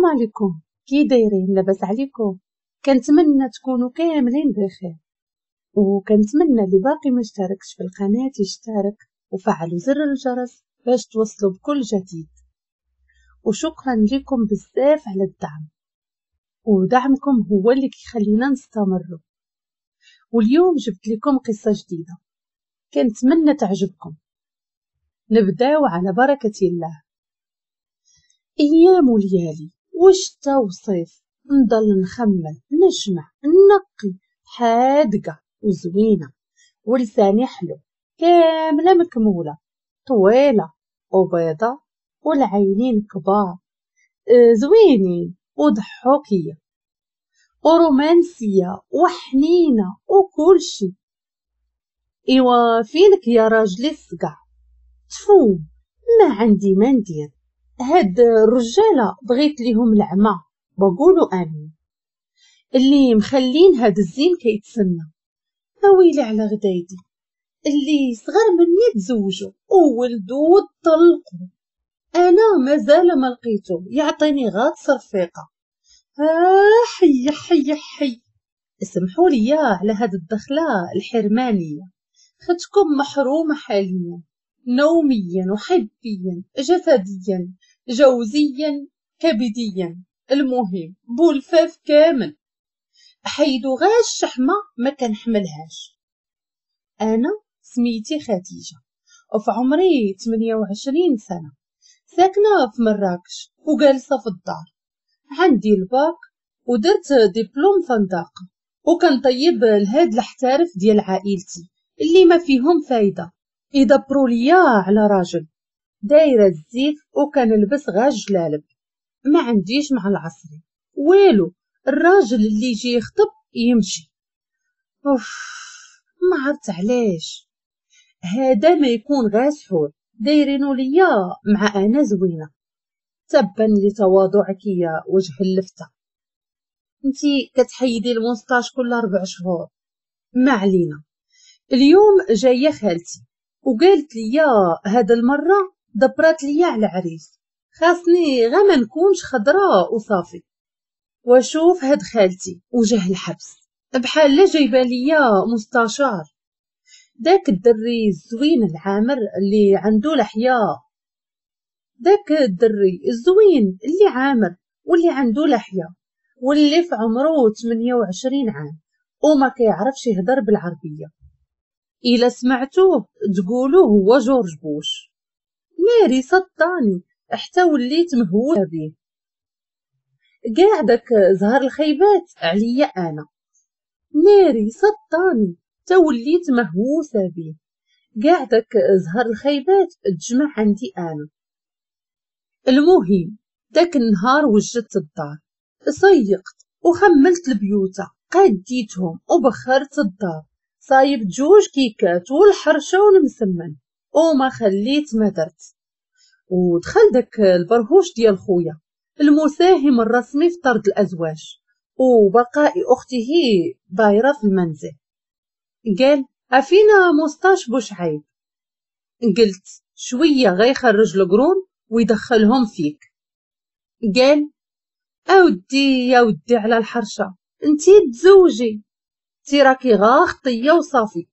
السلام عليكم، كي دايرين؟ لاباس عليكم؟ كنتمنى تكونوا كاملين بخير، وكنتمنى اللي باقي ما اشتركش في القناة يشترك وفعلوا زر الجرس باش توصلوا بكل جديد. وشكرا لكم بزاف على الدعم، ودعمكم هو اللي كيخلينا نستمروا. واليوم جبت لكم قصة جديدة كنتمنى تعجبكم. نبداو على بركة الله. ايام وليالي وشتا وصيف نضل نخمل نجمع نقي، حادقة وزوينة ولساني حلو، كاملة مكمولة، طويلة وبيضة والعينين كبار، زوينين وضحوكية ورومانسية وحنينة وكل شي. ايوا فينك يا راجلي الصقع؟ تفو، ما عندي ما ندير. هاد الرجالة بغيت ليهم العمى، بقولوا امين. اللي مخلين هاد الزين كيتسنى. اويلي على غدايدي، اللي صغر مني تزوجوا وولدوا وطلقوا، انا مازال ما لقيتو يعطيني غاد صرفيقه. حي حي حي، اسمحوا لي على هاد الدخلة الحرمانيه، ختكم محرومة حاليا، نوميا وحبيا، جسديا، جوزيا، كبديا، المهم بولفاف كامل. حيدو غا الشحمه ما كنحملهاش. انا سميتي خديجة وفي عمري 28 سنة، ساكنة في مراكش وجالسه في الدار. عندي الباك ودرت دبلوم فندقه، وكنطيب لهاد الحتارف ديال عائلتي اللي ما فيهم فايده، يدبروا ليا على راجل. دايرة الزيف وكنلبس غا جلالب، ما عنديش مع العصري والو. الراجل اللي يجي يخطب يمشي. اوف، ما عرفت علاش هذا ما يكون غا سحور دايرينو ليا مع انا زوينة. تبا لتواضعك يا وجه اللفته، انتي كتحيدي ال moustache كل 4 شهور. ما علينا. اليوم جاية خالتي وقالت لي هاد المرة دبرات لي على عريس، خاصني غا ما نكونش خضراء وصافي. واشوف هاد خالتي وجه الحبس بحال لا جايبه ليا مستشار. داك الدري الزوين العامر اللي عنده لحية، داك الدري الزوين اللي عامر واللي عنده لحية واللي في عمره 28 عام وما كيعرفش يهضر بالعربية، الا سمعتوه تقولوا هو جورج بوش. ناري سطاني حتى وليت مهووسه به. كاع داك زهر الخيبات عليا انا. ناري سطاني حتى وليت مهووسه به. كاع داك زهر الخيبات تجمع عندي انا. المهم داك النهار وجدت الدار، سيقت وخملت البيوته، قاديتهم وبخرت الدار، صايبت 2 كيكات والحرشه والمسمن، وما خليت ما درت. ودخل داك البرهوش ديال خويا المساهم الرسمي في طرد الازواج وبقاء اخته بايره في المنزل. قال افينا moustache بوشعيب. قلت شوية غيخرج القرون ويدخلهم فيك. قال اودي يا ودي على الحرشه، انتي تزوجي، انتي راكي غا خطيه وصافي،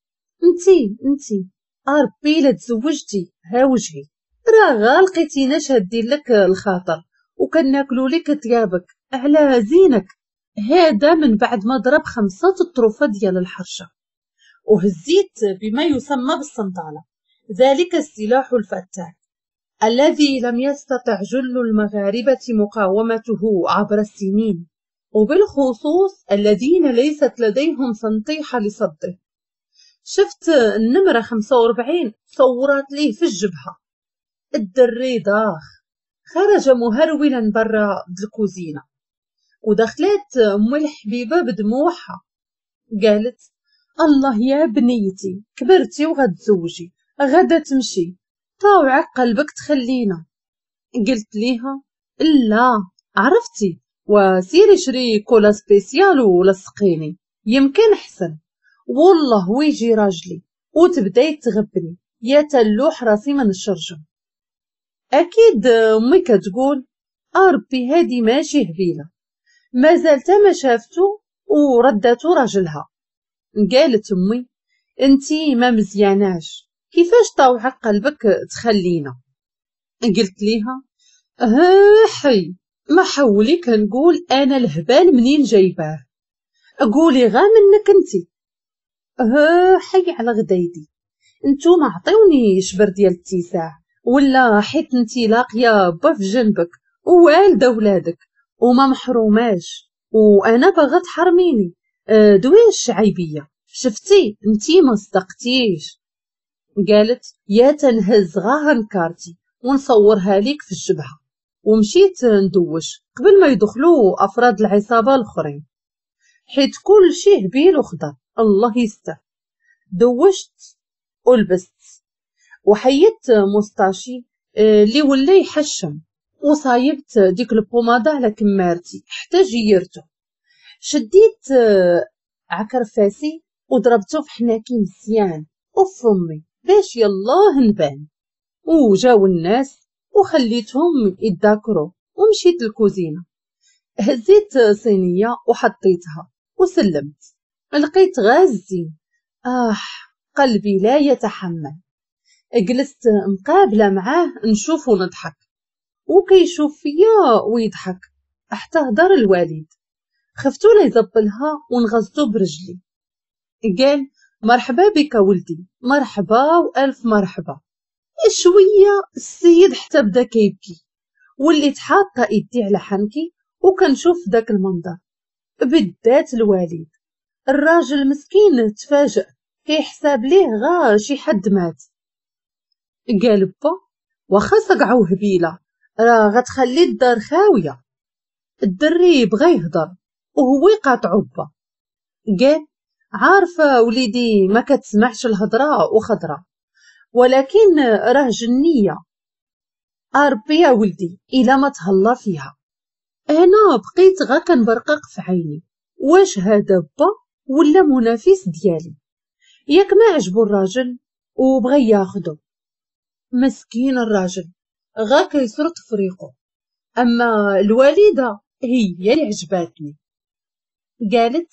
انتي اربي لا تزوجتي ها وجهي، راه غا لقيتينا شادين لك الخاطر وكناكلو لك ثيابك على زينك. هذا من بعد ما ضرب 5 الطروفه ديال الحرشه. وهزيت بما يسمى بالصنداله، ذلك السلاح الفتاك الذي لم يستطع جل المغاربة مقاومته عبر السنين، وبالخصوص الذين ليست لديهم سنطيحه لصده. شفت النمرة 45 صورات ليه في الجبهة. الدري ضاخ، خرج مهرولا برا الكوزينة، ودخلت ام الحبيبة بدموعها. قالت الله يا بنيتي، كبرتي وغتزوجي، غدا تمشي، طاوعك قلبك تخلينا. قلت ليها لا عرفتي، وسيري شري cola spéciale ولصقيني يمكن احسن، والله ويجي راجلي وتبداي تغبني يا تلوح راسي من الشرجم. اكيد امي كتقول ربي هادي ماشي هبيله، مازال تا ما شافتو ورداتو راجلها. قالت امي انتي ما مزياناش، كيفاش طاوعك قلبك تخلينا؟ قلت ليها ها حي ما حولي كنقول انا الهبال منين جايباه، قولي غا منك انتي. ها حي على غدايدي، نتوما عطيوني شبر ديال التساع، ولا حيت انتي لاقيه با في جنبك ووالده ولادك وما محروماش، وانا باغا تحرميني. دوي الشعيبيه، شفتي انتي ما صدقتيش. قالت يا تنهز غا هنكارتي ونصورها ليك في الجبهة. ومشيت ندوش قبل ما يدخلوا افراد العصابة الاخرين، حيت كل شي هبيل وخضر الله يستر. دوشت ولبست وحيدت moustache اللي ولا يحشم، وصايبت ديك ال pommade على كمارتي حتى جيرته. شديت عكر فاسي وضربته في حناكي مزيان وفمي باش يلاه نبان. وجاو الناس وخليتهم يتذاكروا، ومشيت للكوزينه هزيت صينية وحطيتها وسلمت. لقيت غازين، قلبي لا يتحمل. جلست مقابله معاه نشوف ونضحك، وكيشوف فيا ويضحك حتى هدر الوالد. خفتو لا يزبلها ونغزتو برجلي. قال مرحبا بك ولدي، مرحبا والف مرحبا. شوية السيد حتى بدا كيبكي، وليت حاطه ايدي على حنكي وكنشوف داك المنظر. بالذات الوالد، الراجل مسكين تفاجئ، كيحساب ليه غا شي حد مات. قال با واخا صقعو هبيله راه غتخلي الدار خاوية. الدري بغى يهضر وهو يقاطعو با. قال عارفه وليدي ما كتسمعش الهضرة وخضره، ولكن راه جنيه. اربي يا ولدي الا ما تهلا فيها. انا بقيت غا كنبرقق في عيني، واش هذا با ولا منافس ديالي؟ ياك ما عجبو الراجل وبغى ياخدو. مسكين الراجل غا كيسرط فريقو. اما الوالدة هي اللي عجباتني. قالت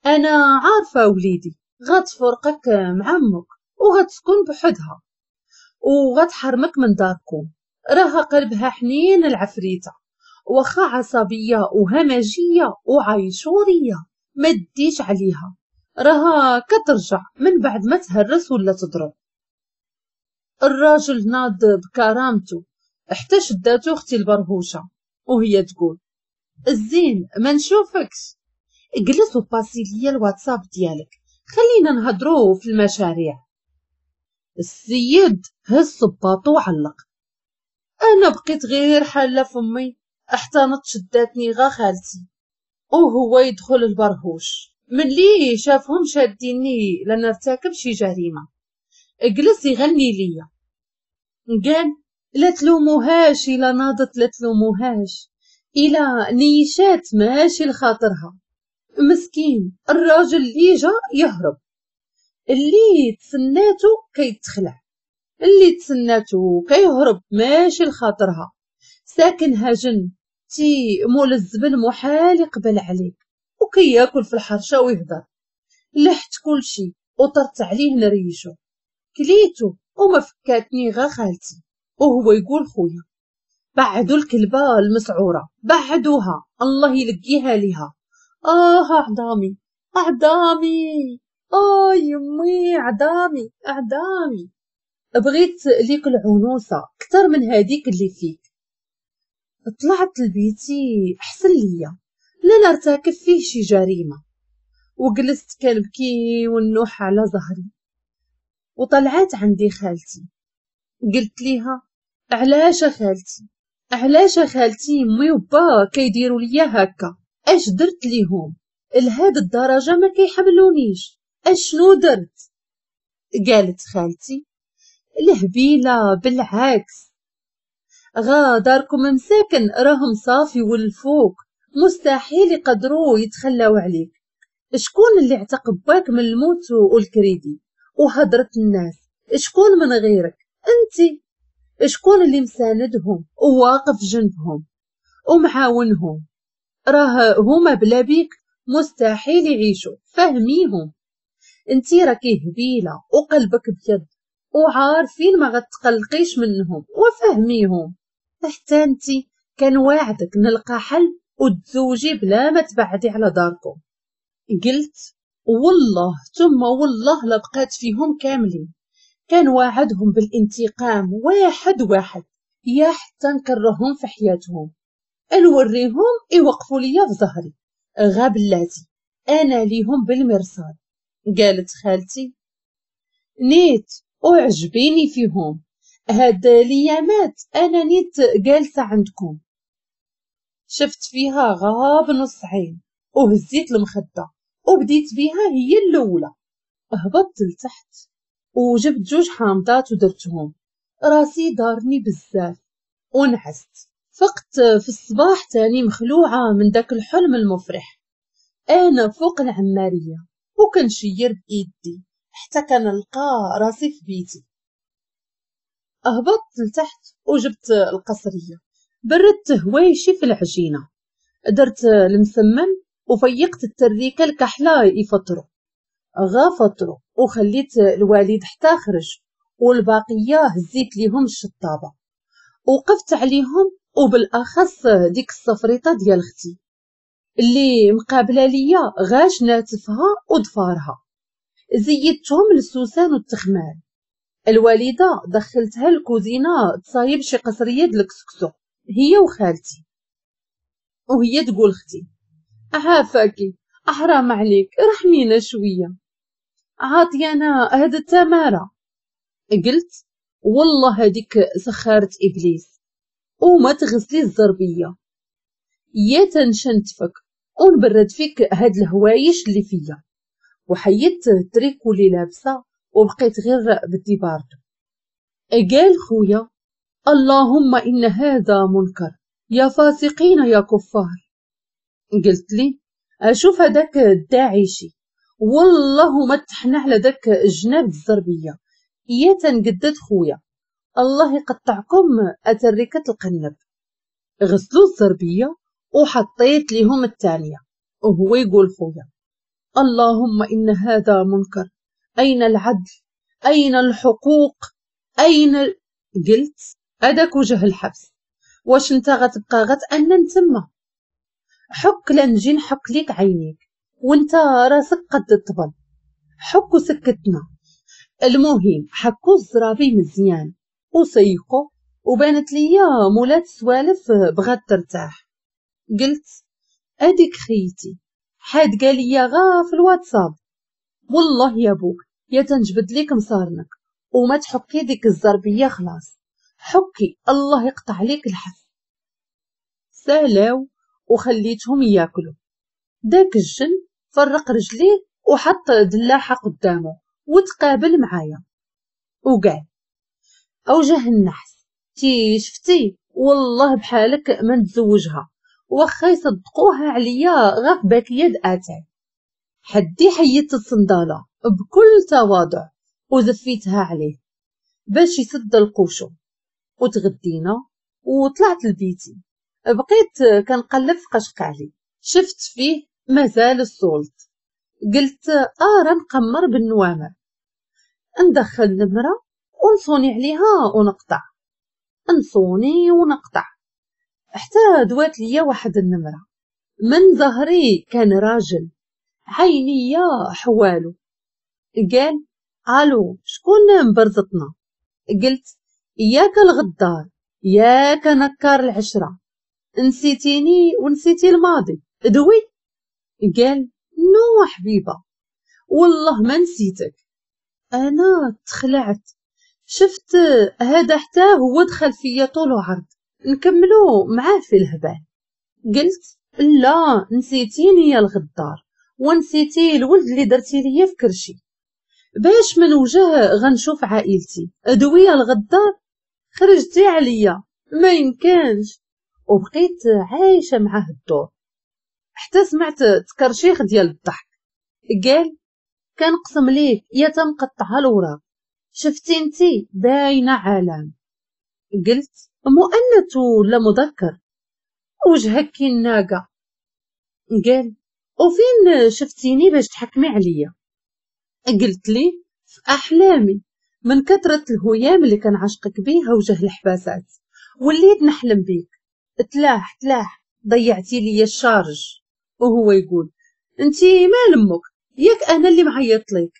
انا عارفه وليدي غتفرقك مع امك وغتسكن بحدها وغتحرمك من داركم، راها قلبها حنين العفريته، واخا عصبية وهمجيه وعيشوريه ما ديش عليها، راها كترجع من بعد ما تهرس ولا تضرب. الراجل ناض بكرامته حتى شداتو اختي البرهوشه وهي تقول الزين ما نشوفكش، جلس وباسي ليا الواتساب ديالك خلينا نهضروا في المشاريع. السيد هز صباطو وعلق. انا بقيت غير حاله فمي حتى نط شداتني غا خالتي، وهو يدخل البرهوش ملي شافهم شاديني لنرتكب شي جريمة. جلس يغني ليا، قال لا تلوموهاش الا ناضت، لا تلوموهاش الا نيشات ماشي لخاطرها. مسكين الراجل اللي جا يهرب، اللي تسناتو كيتخلع، اللي تسناتو كيهرب ماشي لخاطرها. ساكنها جن تي مول الزبل محال يقبل عليك، وكياكل في الحرشه ويهضر. لحت كلشي وطرت عليه نريشو، كليتو وما فكاتني غا خالتي. وهو يقول خويا بعدوا الكلبة المسعوره، بعدوها الله يلقيها ليها. عظامي عظامي، يمي عظامي عظامي، بغيت ليك العنوسه اكثر من هذيك اللي فيك. طلعت لبيتي احسن ليا لا نرتكب فيه شي جريمة، وجلست كنبكي والنوح على ظهري. وطلعت عندي خالتي، قلت ليها علاش خالتي، علاش خالتي امي وبا كيديروا ليا هكا؟ اش درت ليهم لهاد الدرجة ما كيحملونيش؟ اشنو درت؟ قالت خالتي الهبيله بالعكس، غا داركم مساكن راهم صافي ولفوك، مستحيل يقدروا يتخلاو عليك. شكون اللي اعتق باك من الموت والكريدي وهضرة الناس؟ شكون من غيرك انتي؟ شكون اللي مساندهم وواقف جنبهم؟ ومعاونهم، راه هما بلا بيك مستحيل يعيشوا، فهميهم. انتي راكي هبيله وقلبك بيض وعارفين ما غتقلقيش منهم، وفهميهم. حتى انتي كان واعدك نلقى حل وتزوجي بلا ما تبعدي على داركم. قلت والله ثم والله لا بقات فيهم كاملين، كان واعدهم بالانتقام واحد واحد، يا حتى نكرههم في حياتهم، نوريهم يوقفوا ليا في ظهري، غا بلاتي انا ليهم بالمرصاد. قالت خالتي نيت وعجبيني فيهم هاد ليامات، انا نيت جالسة عندكم. شفت فيها غاب نص عين وهزيت المخدة وبديت بيها هي الاولى. هبطت لتحت وجبت 2 حامضات ودرتهم، راسي دارني بزاف ونعست. فقت في الصباح تاني مخلوعه من داك الحلم المفرح. انا فوق العماريه وكنشير بايدي حتى كنلقى راسي في بيتي. هبطت لتحت وجبت القصريه، بردت هوايشي في العجينة، درت المسمن وفيقت التريكه الكحله يفطروا، غا فطروا وخليت الوالد حتى خرج، والباقيه هزيت ليهم الشطابه وقفت عليهم، وبالاخص ديك الصفريطه ديال اختي اللي مقابله ليا غاش ناتفها وضفارها، زيدتهم للسوسان والتخمال. الوالدة دخلتها الكوزينة تصايب شي قصريه د الكسكسو هي وخالتي، وهي تقول اختي عافاكي احرام عليك رحمينا شوية، عاطيانا هاد التماره. قلت والله هذيك سخارة ابليس، وما تغسلي الزربيه يا تنشنتفك ونبرد فيك هاد الهوايش اللي فيا. وحيدت التريكو اللي لابسه وبقيت غير بدي باردو. قال خويا اللهم ان هذا منكر يا فاسقين يا كفار. قلت لي اشوف هذاك الداعشي والله ما تحنى على داك الجناب الزربيه يا تنقدد خويا الله يقطعكم اتركه القنب. غسلوا الزربيه وحطيت ليهم الثانية، وهو يقول خويا اللهم ان هذا منكر، اين العدل، اين الحقوق، اين. قلت هذاك وجه الحبس، واش انت غتبقى غتأنن تما؟ حك لنجي نحك ليك عينيك وانت راسك قد الطبل، حك وسكتنا. المهم حكوا الزرابي مزيان وسيقوا، وبانت ليا مولات السوالف بغات ترتاح. قلت اديك خيتي حاد قال لي غا في الواتساب، والله يا بوك يا تنجبد ليك مصارنك وما تحكي ديك الزربيه خلاص، حكي الله يقطع ليك الحس. سالاو وخليتهم ياكلوا. داك الجن فرق رجليه وحط دلاحه قدامه وتقابل معايا وقال اوجه النحس تي شفتي والله بحالك ما نتزوجها، واخا يصدقوها عليا غا في باكية د اتاي. حدي حيدت الصنداله بكل تواضع وزفيتها عليه باش يسد القوشو، وتغدينا وطلعت لبيتي. بقيت كنقلب في قشقالي، شفت فيه مازال السلط. قلت ارا نقمر بالنوامر، ندخل نمره ونصوني عليها ونقطع، نصوني ونقطع، حتى دوات ليا واحد النمرة من ظهري كان راجل عينيا حوالو. قال الو شكون مبرزطنا؟ قلت ياك الغدار ياك نكار العشرة، نسيتيني ونسيتي الماضي دوي. قال no حبيبه والله ما نسيتك. انا تخلعت، شفت هذا حتى هو دخل فيا طول وعرض نكملو معاه في الهبال. قلت لا نسيتيني يا الغدار ونسيتي الولد اللي درتي ليا في كرشي، باش من وجه غنشوف عائلتي دوي يا الغدار، خرجتي عليا ما يمكنش. وبقيت عايشه معاه الدور حتى سمعت تكرشيخ ديال الضحك. قال كنقسم ليك يا تنقطعها الوراق، شفتي انتي باينة عالم. قلت مؤنث ولا مذكر؟ وجهك كي الناقة. قال وفين شفتيني باش تحكمي عليا؟ قلت لي في احلامي، من كثرة الهيام اللي كنعشقك بيها وجه الحباسات وليت نحلم بيك. تلاح تلاح، ضيعتي لي ال charge. وهو يقول انتي مال امك، ياك انا اللي معيط لك.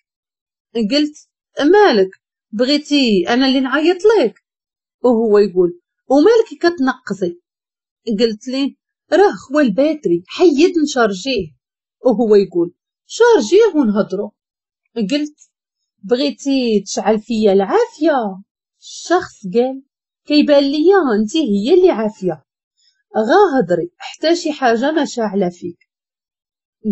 قلت مالك بغيتي انا اللي نعيط لك؟ وهو يقول ومالك كتنقزي؟ قلت ليه راه خوا ال batterie، حيد نشارجيه. وهو يقول شارجيه ونهضرو. قلت بغيتي تشعل فيا العافية؟ الشخص قال كيبان ليا انت هي اللي عافية، غا هضري حتى شي حاجة ما شاعله فيك.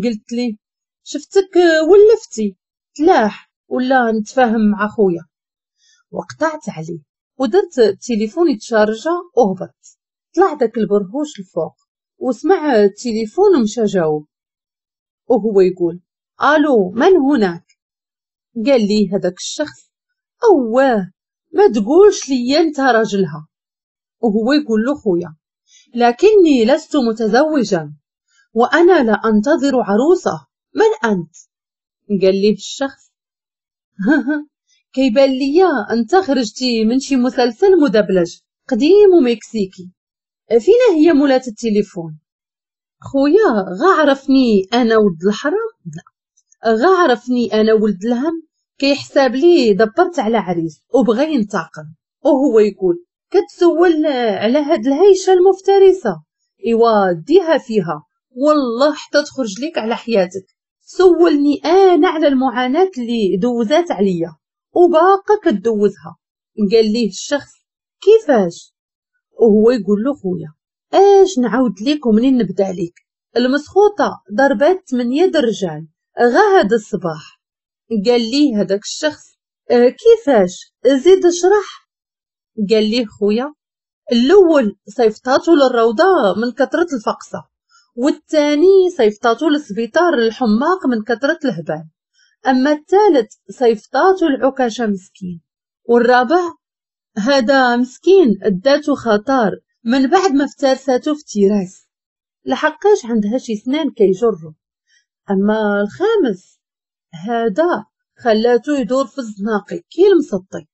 قلت ليه شفتك ولفتي، تلاح ولا نتفاهم مع خويا. وقطعت عليه ودرت التليفون يتشارجا وهبط. طلع داك البرهوش الفوق وسمع التليفون ومشى جاوب، وهو يقول الو من هناك؟ قال لي هذاك الشخص اواه ما تقولش لي انت راجلها. وهو يقول له خويا لكني لست متزوجا وانا لا انتظر عروسه، من انت؟ قال لي الشخص كيبان ليا انت خرجتي من شي مسلسل مدبلج قديم ومكسيكي، فينا هي مولات التليفون؟ خويا غا عرفني انا ولد الحرام، لا غا عرفني انا ولد الهم، كيحساب لي دبرت على عريس وبغى ينتقم. وهو يقول كتسول على هاد الهيشه المفترسة، ايوا ديها فيها والله حتى تخرج ليك على حياتك. سولني انا على المعاناة اللي دوزات عليا وباقا كدوزها. قال ليه الشخص كيفاش؟ وهو يقول له خويا اش نعاود ليك ومنين نبدا ليك؟ المسخوطه ضربات 8 درجال غا هذا الصباح. قال لي هذاك الشخص كيفاش؟ زيد اشرح. قال ليه خويا الاول صيفطاتو للروضه من كثرة الفقصه، والثاني صيفطاتو للسبيطار الحماق من كثرة الهبال، اما الثالث صيفطاتو العكاشه مسكين، والرابع هذا مسكين اداتو خطر من بعد ما افترساتو في تيراس لحقاش عندها شي سنان كيجرو، اما الخامس هذا خلاتو يدور في الزناقي كي المسطي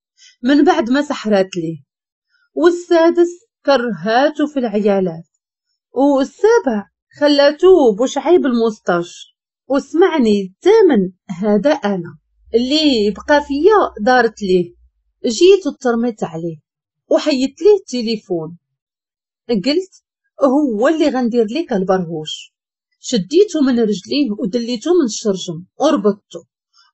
من بعد ما سحرات ليه، والسادس كرهاتو في العيالات، والسابع خلاتو بوشعيب ال moustache، وسمعني الثامن هذا انا اللي بقى فيا دارت ليه، جيت وترميت عليه وحيدت ليه التليفون، قلت هو اللي غندير ليك البرهوش. شديته من رجليه ودليته من الشرجم وربطته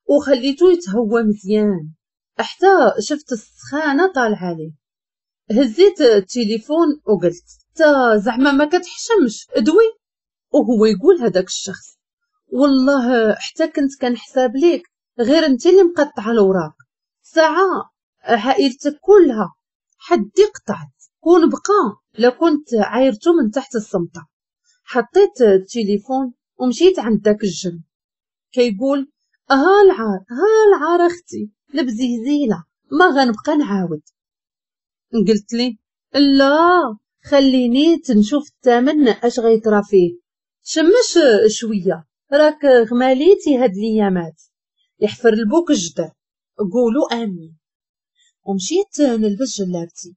وخليته يتهوى مزيان حتى شفت السخانه طالعه ليه. هزيت التليفون وقلت تا زعما ما كتحشمش ادوي. وهو يقول هذاك الشخص والله حتى كنت كنحساب ليك غير انت اللي مقطعه الاوراق، ساعة عائلتك كلها حدي قطعت، كون بقى لكنت عايرته من تحت الصمته. حطيت التليفون ومشيت عند داك الجن كيقول ها العار ها العار اختي البزيزيله ما غنبقى نعاود. قلت لي لا خليني تنشوف الثمن اش غيطرا فيه، شمش شوية راك غماليتي هاد الايامات، يحفر البوك الجدر قولوا امين. ومشيت نلبس جلابتي،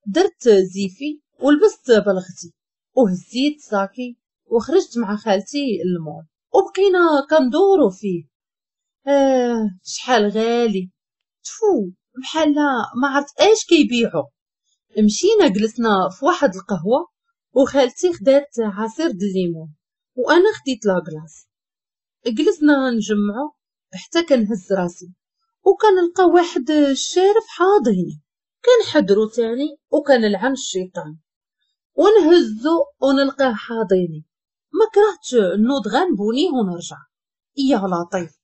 درت زيفي ولبست بلغتي وهزيت ساكي وخرجت مع خالتي للمول وبقينا كندورو فيه. شحال غالي تفو، بحال ما عرفت اش كيبيعوا. مشينا جلسنا في واحد القهوة وخالتي خدات عصير د الليمون وانا خديت la glace. جلسنا نجمعو حتى كنهز راسي وكنلقى واحد الشارف حاضيني، كنحضرو تاني وكنلعن الشيطان ونهزو ونلقاه حاضيني. ما كرهتش نوض غنبونيه ونرجع. يا لطيف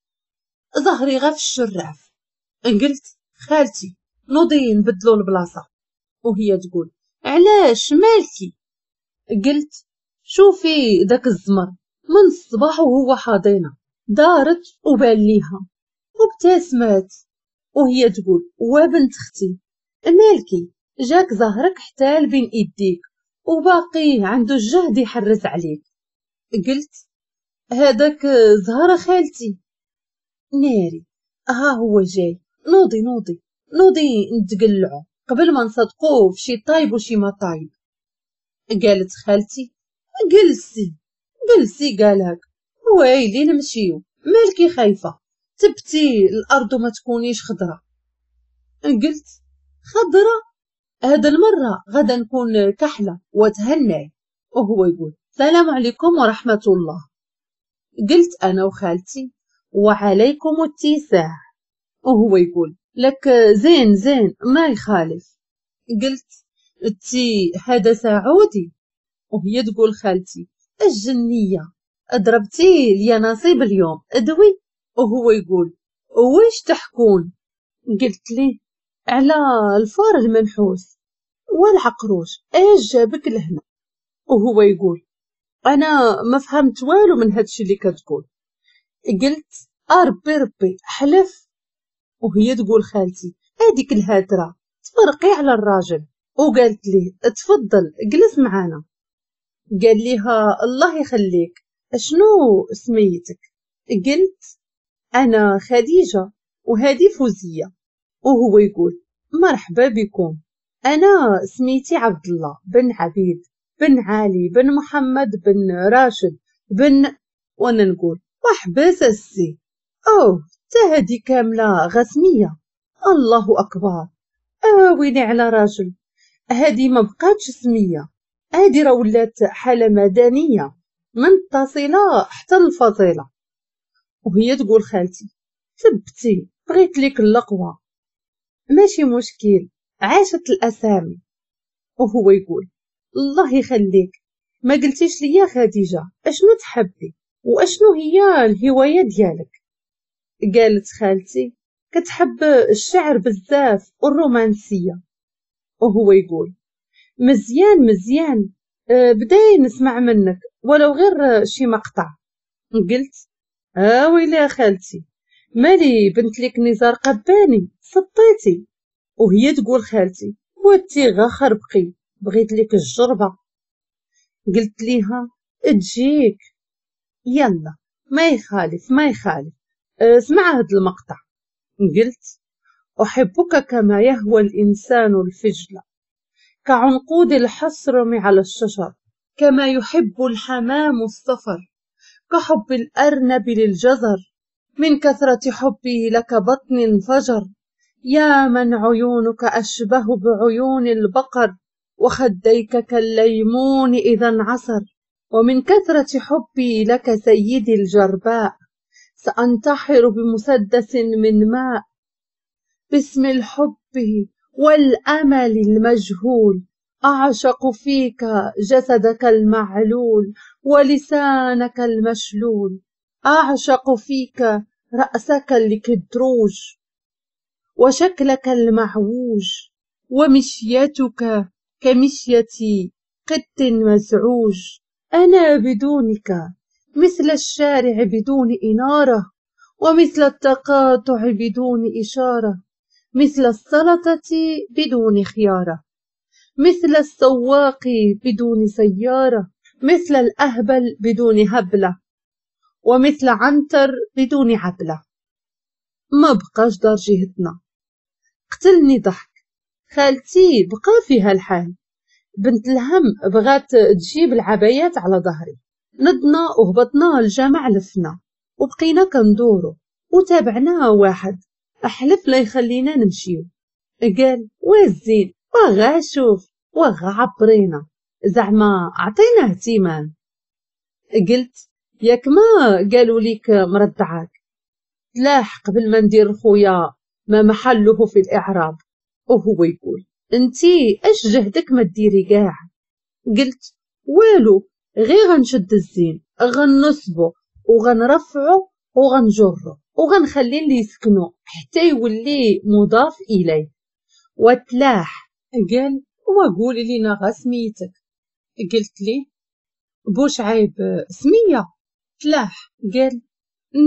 ظهري غا في الشراف. قلت خالتي نوضي نبدلو البلاصة، وهي تقول علاش مالكي؟ قلت شوفي داك الزمر من الصباح وهو حاضينا. دارت وبان ليها وابتسمت وهي تقول وبنت اختي مالكي جاك زهرك حتى بين ايديك وباقي عنده الجهد يحرز عليك. قلت هذاك زهرة خالتي. ناري ها هو جاي، نوضي نوضي نوضي نتقلعو قبل ما نصدقوه في شي طايب وشي ما طايب. قالت خالتي جلسي جلسي، قالك ويلي نمشيو، مالكي خايفة تبتي الأرض وما تكونيش خضرة. قلت خضرة؟ هذا المرة غدا نكون كحلة وتهناي. وهو يقول السلام عليكم ورحمة الله. قلت أنا وخالتي وعليكم التساع. وهو يقول لك زين زين ما يخالف. قلت تي هذا سعودي. وهي تقول خالتي الجنية ضربتي لي نصيب اليوم ادوي. وهو يقول ويش تحكون؟ قلت ليه على الفار المنحوس والعقروش ايش جابك لهنا؟ وهو يقول انا ما فهمت والو من هادشي اللي كتقول. قلت اربي ربي حلف. وهي تقول خالتي هذيك الهاتره تفرقي على الراجل. وقالت لي تفضل جلس معانا. قال ليها الله يخليك اشنو سميتك؟ قلت انا خديجة وهذه فوزيه. وهو يقول مرحبا بكم، انا سميتي عبد الله بن عبيد بن علي بن محمد بن راشد بن، وانا نقول وحبس السي اوه تا هادي كاملة غسميه. الله اكبر، اويلي على راجل، هادي ما بقاتش سميه، هادي راه ولات حاله مدنية من التصيله حتى الفصيله. وهي تقول خالتي ثبتي بغيت ليك اللقوه، ماشي مشكل عاشت الاسامي. وهو يقول الله يخليك ما قلتيش ليا خديجة اشنو تحبي واشنو هي الهواية ديالك؟ قالت خالتي كتحب الشعر بزاف والرومانسيه. وهو يقول مزيان مزيان، بداي نسمع منك ولو غير شي مقطع. قلت ويلي يا خالتي مالي بنت لك نزار قباني سطيتي. وهي تقول خالتي واتي غا خربقي بغيت لك الجربه. قلت ليها تجيك يلا ما يخالف ما يخالف، اسمع هاد المقطع. قلت أحبك كما يهوى الإنسان الفجل، كعنقود الحصرم على الشجر، كما يحب الحمام الصفر، كحب الأرنب للجزر، من كثرة حبي لك بطني انفجر، يا من عيونك أشبه بعيون البقر، وخديك كالليمون إذا انعصر، ومن كثرة حبي لك سيدي الجرباء، سأنتحر بمسدس من ماء، باسم الحب والأمل المجهول، أعشق فيك جسدك المعلول ولسانك المشلول، أعشق فيك رأسك الكدروج وشكلك المعوج، ومشيتك كمشية قط مزعوج، أنا بدونك مثل الشارع بدون إنارة، ومثل التقاطع بدون إشارة، مثل السلطة بدون خيارة، مثل السواق بدون سيارة، مثل الأهبل بدون هبلة، ومثل عنتر بدون عبلة. ما بقاش دار جهتنا. قتلني ضحك. خالتي بقى فيها الحال، بنت الهم بغات تجيب العبايات على ظهري. نضنا وهبطنا الجامع لفنا وبقينا كندورو وتابعناها واحد احلف لا يخلينا نمشيو. قال وزين وغا شوف وغا عبرينا زعما عطينا اهتمام. قلت ياك ما قالوا ليك مرضعاك، تلاح قبل ما ندير خويا ما محله في الإعراب. وهو يقول انتي اش جهدك ما ديري كاع. قلت والو غير غنشد الزين غنصبو وغنرفعو وغنجرو وغنخلي اللي يسكنو حتى يولي مضاف اليه. وتلاح. قال وقولي لينا غا سميتك. قلت لي بوشعيب سميه. تلاح. قال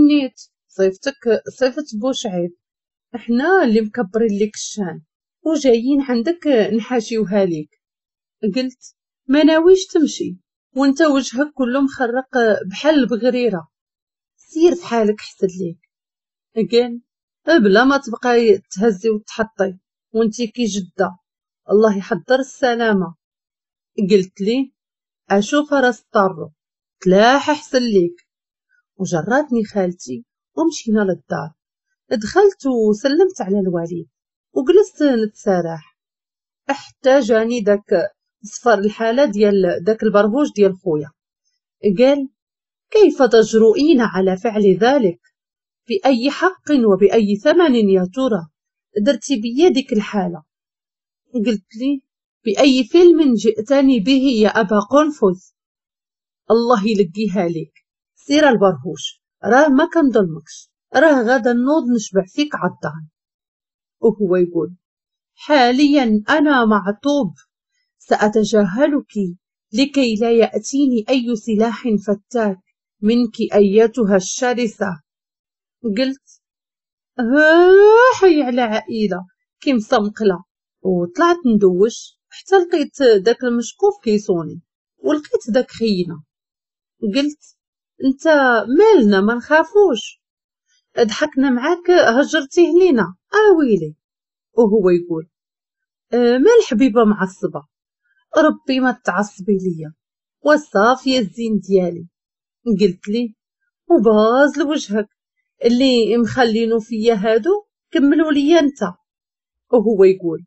نيت صيفتك صيفت بوشعيب، احنا اللي مكبرين لك الشان وجايين عندك نحاشيوها ليك. قلت ما ناويش تمشي وانت وجهك كله مخرق بحال البغريره، سير في حالك حسن ليك. قال بلا ما تبقاي تهزي وتحطي وانتي كي جده، الله يحضر السلامة. قلت لي اشوف راس طارو، تلاح احسن ليك. وجراتني خالتي ومشينا للدار. دخلت وسلمت على الوالد وجلست نتسارح حتى جاني داك صفر الحالة ديال داك البرهوش ديال خويا. قال كيف تجرؤين على فعل ذلك؟ بأي حق وبأي ثمن يا ترى درتي بيدك الحالة؟ قلت لي بأي فيلم جئتني به يا أبا قنفذ؟ الله يلقيها لك، سير البرهوش، راه ما كنظلمكش، راه غدا نوض نشبع فيك عضان. وهو يقول حاليا أنا معطوب، سأتجاهلك لكي لا يأتيني أي سلاح فتاك منك أيتها الشرسة. قلت حي على عائلة كي مسمقلة. وطلعت ندوش حتى لقيت داك المشقوف كيصوني ولقيت داك خينا. قلت انت مالنا ما نخافوش، ضحكنا معاك هجرتيه لينا اويلي. وهو يقول مال حبيبه معصبة، ربي ما تعصبي ليا والصافيه الزين ديالي. قلت لي وباز لوجهك اللي مخلينو فيا هادو كملوا ليا انت. وهو يقول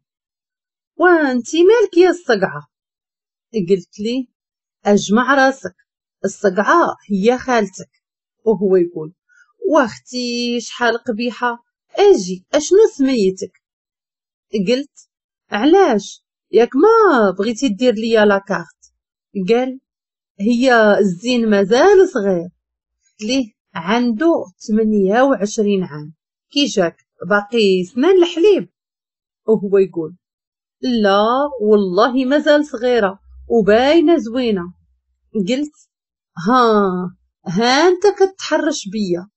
وانتي مالك يا الصقعه؟ قلت لي اجمع راسك، الصقعه هي خالتك. وهو يقول واختي شحال قبيحة، اجي اشنو سميتك؟ قلت علاش ياك ما بغيتي دير ليا la carte؟ قال هي الزين مازال صغير، ليه عنده 28 عام، كي جاك باقي سنان الحليب. وهو يقول لا والله مازال صغيرة وباينه زوينة. قلت ها انت كتحرش بيا.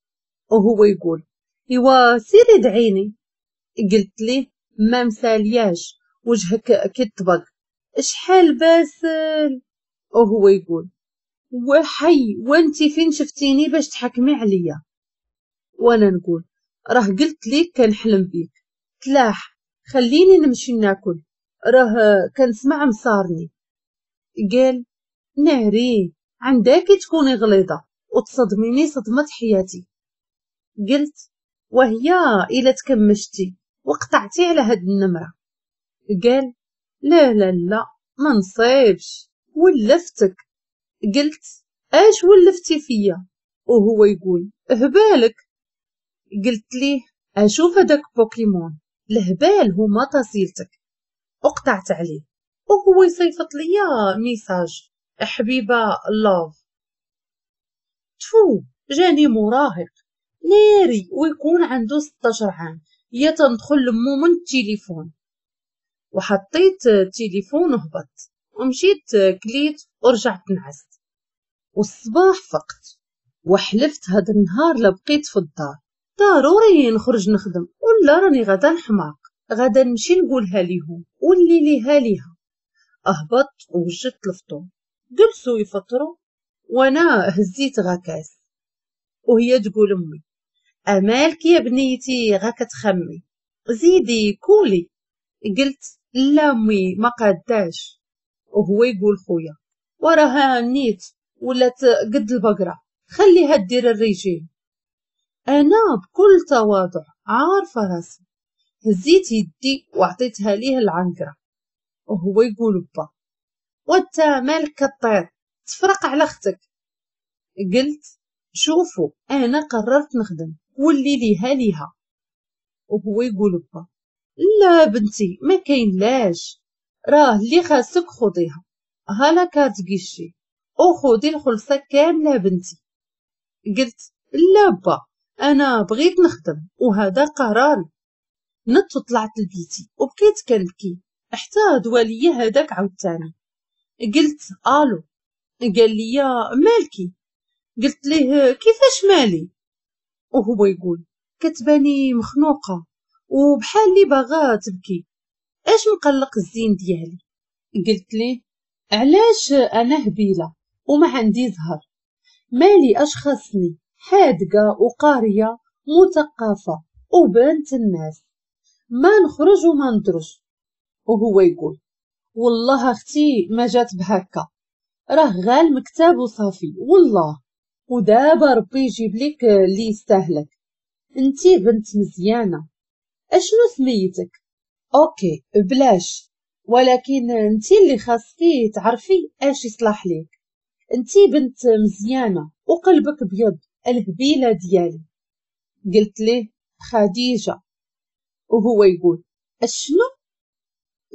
وهو يقول ايوا سيري دعيني. قلت ليه ما مسالياش وجهك كيطبق شحال باسل. وهو يقول وحي وانتي فين شفتيني باش تحكمي عليا؟ وانا نقول راه قلت ليك كنحلم بيك، تلاح خليني نمشي ناكل راه كنسمع مصارني. قال ناري عندك تكوني غليظة وتصدميني صدمة حياتي. قلت وهي الا تكمشتي وقطعتي على هاد النمرة. قال لا لا لا ما نصيبش ولفتك. قلت اش ولفتي فيا؟ وهو يقول هبالك. قلت ليه اشوف هداك بوكيمون الهبال هما تصيلتك. وقطعت عليه وهو يصيفط ليا message حبيبه love. تفو جاني مراهق ناري ويكون عنده 16 عام يا تندخل لمو من التليفون. وحطيت التليفون وهبط ومشيت كليت ورجعت نعست. والصباح فقت وحلفت هذا النهار لا بقيت في الدار، ضروري نخرج نخدم ولا راني غدا نحماق، غدا نمشي نقولها ليهم واللي ليها ليها. اهبطت ووجدت الفطور، جلسوا يفطروا وانا هزيت غاكاس. وهي تقول امي امالك يا بنيتي غا كتخمي زيدي كولي. قلت لا امي ما قاداش. وهو يقول خويا وراها نيت ولات قد البقرة خليها دير الريجيم. انا بكل تواضع عارفه راسي هزيت يدي وعطيتها ليه العنقره. وهو يقول با وانت مالك كطير تفرق على اختك. قلت شوفوا انا قررت نخدم واللي ليها ليها. وهو يقول با لا بنتي ما كاين لاش، راه اللي خاصك خذيها، ها la carte guichet وخذي الخلصة كاملة بنتي. قلت لا با انا بغيت نخدم وهذا قراري. نط وطلعت لبيتي وبقيت كنبكي حتى دواليا هذاك عاوتاني. قلت الو، قال لي مالكي؟ قلت ليه كيفاش مالي؟ وهو يقول كتباني مخنوقه وبحال اللي باغا تبكي، اش مقلق الزين ديالي؟ قلت ليه علاش انا هبيله وما عندي زهر؟ مالي اش خاصني؟ حادقه وقاريه مثقفة وبنت الناس، ما نخرج وما ندرج. وهو يقول والله اختي ما جات بهكا، راه غال مكتاب وصافي والله، ودابا ربي يجيب لك اللي يستاهلك، انتي بنت مزيانه، اشنو سميتك؟ OK بلاش، ولكن انتي اللي خاصكي تعرفي اش يصلح ليك، انتي بنت مزيانه وقلبك بيض الهبيله ديالي. قلت ليه خديجة. وهو يقول اشنو؟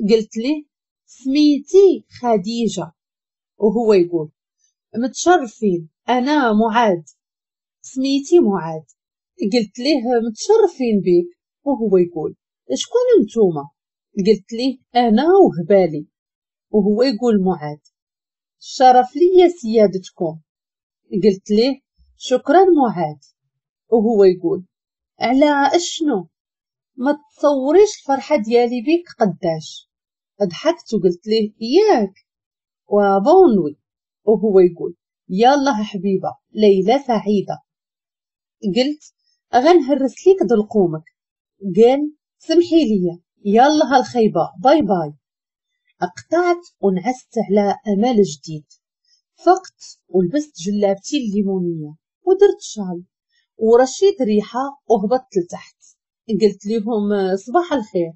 قلت ليه سميتي خديجة. وهو يقول متشرفين، انا معاد، سميتي معاد. قلت ليه متشرفين بيك. وهو يقول شكون نتوما؟ قلت ليه انا وهبالي. وهو يقول معاد الشرف ليا سيادتكم. قلت ليه شكرا معاد. وهو يقول على اشنو؟ ما تصوريش الفرحة ديالي بيك قداش. ضحكت وقلت ليه ياك و bonne nuit. وهو يقول يلا حبيبه ليلة سعيدة. قلت غنهرس ليك دلقومك. قال سمحي لي يلا الخيبه bye bye. قطعت ونعست على امل جديد. فقت ولبست جلابتي الليمونيه ودرت شال ورشيت ريحه وهبطت لتحت. قلت لهم صباح الخير.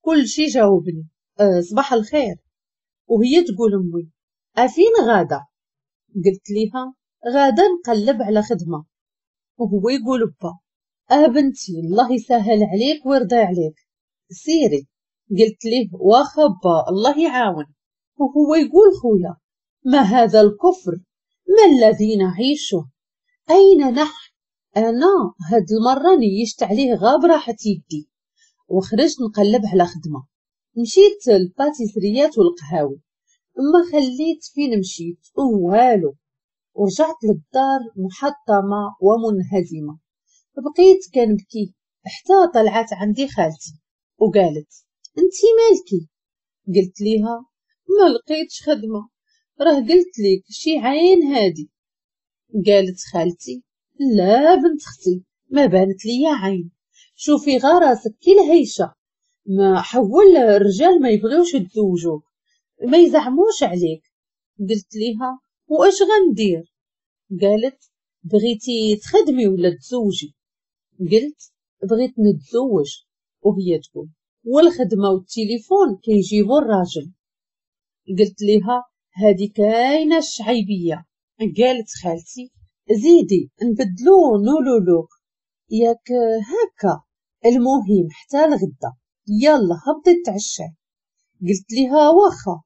كل شي جاوبني صباح الخير. وهي تقول امي افين غاده؟ قلت ليها غاده نقلب على خدمة. وهو يقول با بنتي الله يسهل عليك ويرضى عليك سيري. قلت ليه واخا با الله يعاون. وهو يقول خويا ما هذا الكفر؟ ما الذي نعيشه؟ اين نحن؟ انا هاد المرة نيشت عليه غاب راحت يدي وخرجت نقلب على خدمة. مشيت للباتيسريات والقهاوي، ما خليت فين مشيت والو. ورجعت للدار محطمه ومنهزمه. بقيت كنبكي حتى طلعت عندي خالتي وقالت انتي مالكي؟ قلت ليها ما لقيتش خدمة، راه قلت لك شي عين هادي. قالت خالتي لا بنت اختي ما بانت ليا عين، شوفي غا راسك كي الهيشه، ما حول الرجال ما يبغيوش يتزوجوك، ما يزعموش عليك. قلت ليها واش غندير؟ قالت بغيتي تخدمي ولا تزوجي؟ قلت بغيت نتزوج. وهي تقول والخدمة والتليفون كيجيبوا الراجل. قلت ليها هادي كاينه الشعيبيه. قالت خالتي زيدي نبدلو نولولوك ياك هكا، المهم حتى الغدا يلا هبطي تعشى. قلت ليها واخا.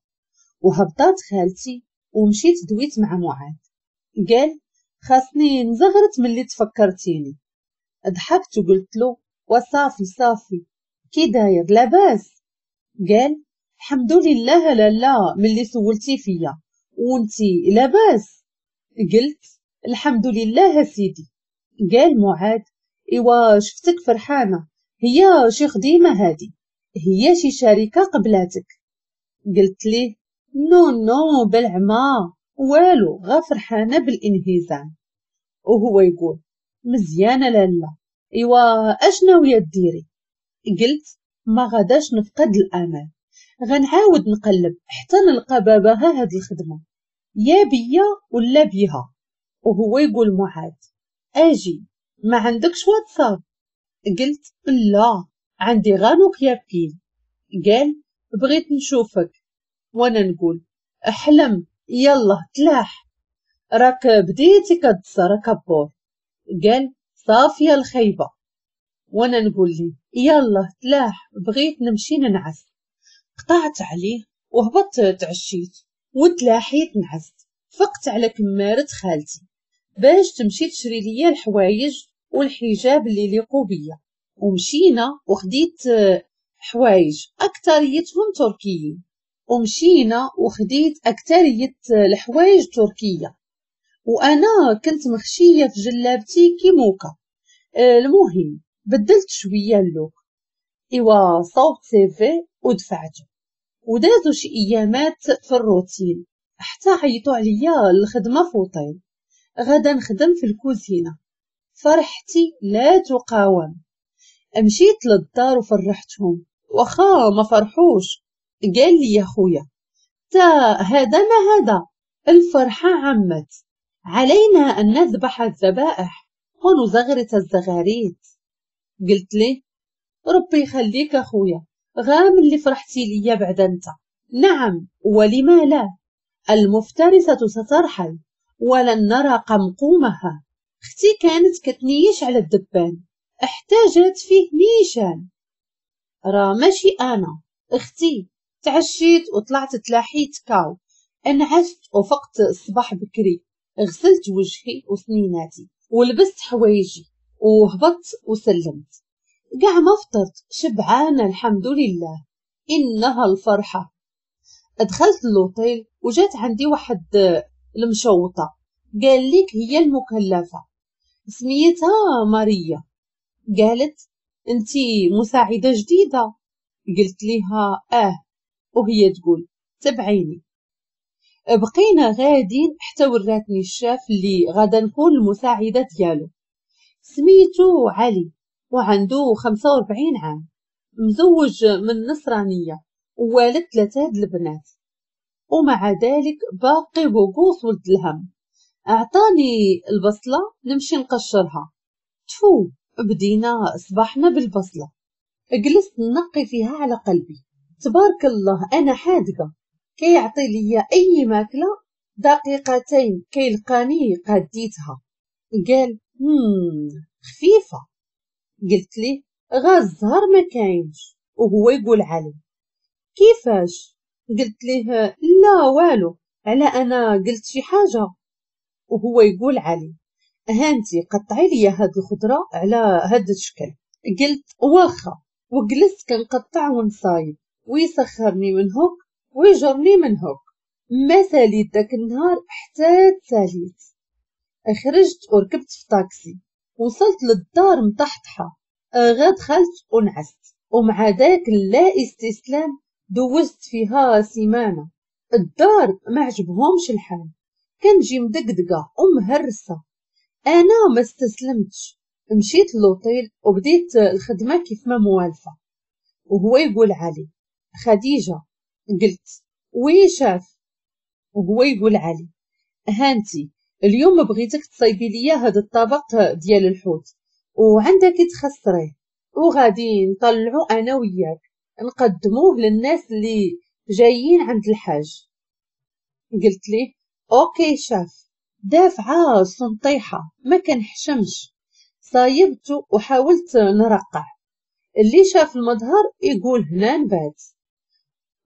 وهبطات خالتي ومشيت دويت مع معاذ. قال خاصني نزغرت ملي تفكرتيني. ضحكت وقلت له وصافي صافي كي داير لاباس؟ قال الحمد لله لالا ملي سولتي فيا وانتي لاباس؟ قلت الحمد لله سيدي. قال معاذ ايوا شفتك فرحانة، هي شي خديمه هادي، هي شي شركة قبلاتك؟ قلت ليه non non بالعما والو، غا فرحانة بالانهزام. وهو يقول مزيانه لالا، ايوا اش ناوية ديري؟ قلت ما غاداش نفقد الامل، غنعاود نقلب حتى نلقى باباها هاد الخدمة، يا بيا ولا بيها. وهو يقول معاذ اجي ما عندكش واتساب؟ قلت لا عندي غا نوكيا pile. قال بغيت نشوفك. وانا نقول احلم يلا تلاح، راك بديتي كتصرا كبور. قال صافية الخيبه. وانا نقول لي يلا تلاح بغيت نمشي ننعس. قطعت عليه وهبطت تعشيت وتلاحيت نعست. فقت على كمارة خالتي باش تمشي تشري ليا الحوايج والحجاب اللي ليقوا بيا. ومشينا وخديت حوايج اكثريتهم تركيين، ومشينا وخديت اكثرية الحوايج تركيه، وانا كنت مخشيه في جلابتي كي موكا. المهم بدلت شوية ال look، ايوا صوبت CV ودفعته. ودازو شي ايامات في الروتين حتى عيطوا عليا الخدمة فوطيل، غادا نخدم في الكوزينة. فرحتي لا تقاوم. مشيت للدار وفرحتهم، واخا ما فرحوش. قال لي يا خويا تا هذا ما هذا، الفرحة عمت، علينا أن نذبح الذبائح ونزغرت الزغاريت. قلت ليه ربي يخليك أخويا، غام اللي فرحتي ليا بعد أنت. نعم ولما لا، المفترسة سترحل ولن نرى قمقومها. اختي كانت كتنيش على الدبان، احتاجت فيه نيشان. راه ماشي انا اختي. تعشيت وطلعت تلاحيت كاو، انعست وفقت الصباح بكري، غسلت وجهي وسنيناتي ولبست حوايجي وهبطت وسلمت. كاع ما فطرت، شبعانه الحمد لله، انها الفرحة. دخلت اللوطيل وجات عندي واحد المشوطه، قال لك هي المكلفه، سميتها ماريا. قالت انتي مساعدة جديدة؟ قلت لها اه، وهي تقول تبعيني. بقينا غادين حتى وراتني الشاف اللي غادا نكون المساعدة ديالو، سميتو علي وعنده 45 عام، مزوج من نصرانية ووالد 3 د البنات، ومع ذلك باقي بوقوص ولد الهم. اعطاني البصله نمشي نقشرها. تفو، بدينا صباحنا بالبصله. جلست نقي فيها على قلبي. تبارك الله انا حادقه، كيعطي ليا اي ماكله دقيقتين كيلقاني قاديتها. قال خفيفة. قلت ليه غا الزهر ما كاينش. وهو يقول علي كيفاش؟ قلت ليه لا والو، على انا قلت شي حاجة. وهو يقول علي هانتي قطعي لي هاد الخضرة على هاد الشكل. قلت واخا، وجلست كنقطع ونصايب، ويسخرني من هوك ويجرني من هوك. ما ساليت داك النهار حتى تساليت. خرجت وركبت في طاكسي، وصلت للدار مطحطحه، غا دخلت ونعست. ومع ذاك لا استسلام دوزت فيها سيمانه. الدار ما عجبهمش الحال، كنجي مدقدقه ومهرسه. انا ما استسلمتش، مشيت للوطيل وبديت الخدمة كيف ما موالفه. وهو يقول علي خديجة. قلت oui chef. وهو يقول علي هانتي اليوم بغيتك تصايبي ليا هذا الطبق ديال الحوت وعندك تخسريه، وغادي نطلعو انا وياك نقدموه للناس اللي جايين عند الحاج. قلت ليه OK chef. دافعه السنطيحه ما كنحشمش، صايبته وحاولت نرقع. اللي شاف المظهر يقول هنا نبات.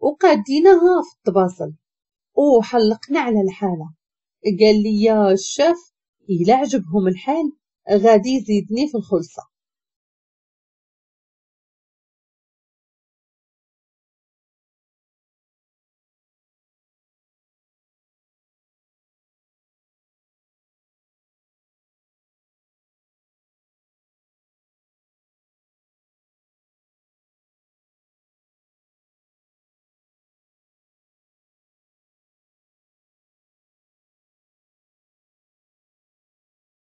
وقاديناها في الطباصل وحلقنا على الحالة. قال لي يا الشاف إلا عجبهم الحال غادي يزيدني في الخلصة.